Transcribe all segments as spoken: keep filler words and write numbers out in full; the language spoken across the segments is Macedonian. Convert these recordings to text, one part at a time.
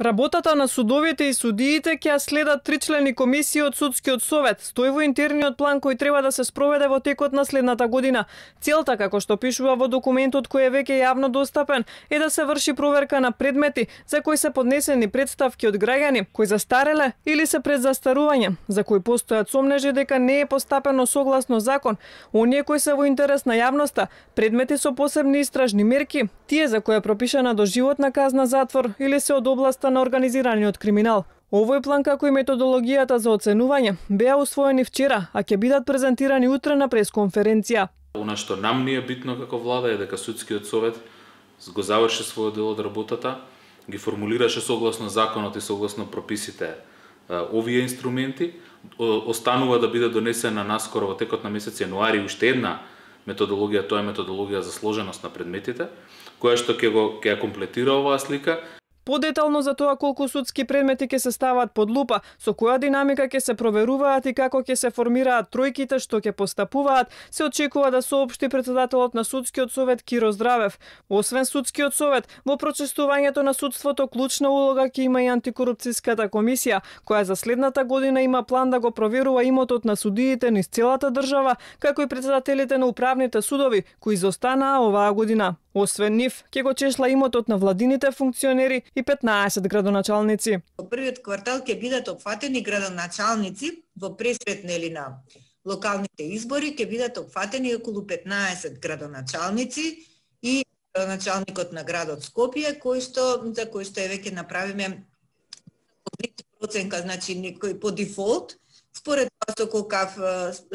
Работата на судовите и судиите ќе ја следат тричлени комисии од Судскиот совет, стои во интерниот план кој треба да се спроведе во текот на следната година. Целта, како што пишува во документот кој е веќе јавно достапен, е да се врши проверка на предмети за кои се поднесени претставки од граѓани, кои застареле или се пред застарување, за кои постојат сомнежи дека не е постапено согласно закон, оние кои се во интерес на јавноста, предмети со посебни истражни мерки, тие за кои е пропишана доживотна казна затвор или се од област на организираниот криминал. Овој план, како и методологијата за оценување, беа усвоени вчера, а ќе бидат презентирани утре на пресконференција. Она што нам ни е битно како влада е дека Судскиот совет го заврши својот дел од работата, ги формулираше согласно законот и согласно прописите овие инструменти, останува да биде донесена наскоро во текот на месец јануари уште една методологија, тоа е методологија за сложеност на предметите, која што ќе го ќе ја комплетира оваа слика. Подетално за тоа колку судски предмети ќе се стават под лупа, со која динамика ќе се проверуваат и како ќе се формираат тројките што ќе постапуваат, се очекува да соопшти претседателот на Судскиот совет Киро Здравев. Освен Судскиот совет, во прочестувањето на судството клучна улога ќе има и антикорупцијската комисија, која за следната година има план да го проверува имотот на судиите низ целата држава, како и претседателите на управните судови, кои изостанаа оваа година. Освен нив, ќе го чешла имотот на владините функционери и петнаесет градоначалници. Во првиот квартал ќе бидат опфатени градоначалници во пресвет нели на локалните избори, ќе бидат опфатени околу петнаесет градоначалници и градоначалникот на градот Скопје, кој што за кој што е веќе направиме проценка, значи некој по дефолт, според тоа со колкав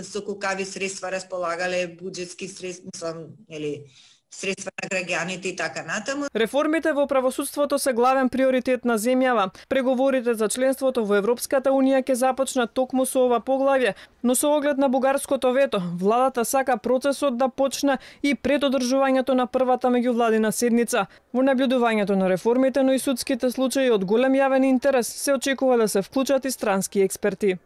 со колкави средства располагале, буџетски средства, мислам, нели средства на граѓаните и така натаму. Реформите во правосудството се главен приоритет на земјава. Преговорите за членството во Европската унија ќе започнат токму со ова поглавје, но со оглед на бугарското вето, владата сака процесот да почне и пред одржувањето на првата меѓувладина седница. Во наблюдувањето на реформите, но и судските случаи од голем јавен интерес, се очекува да се вклучат и странски експерти.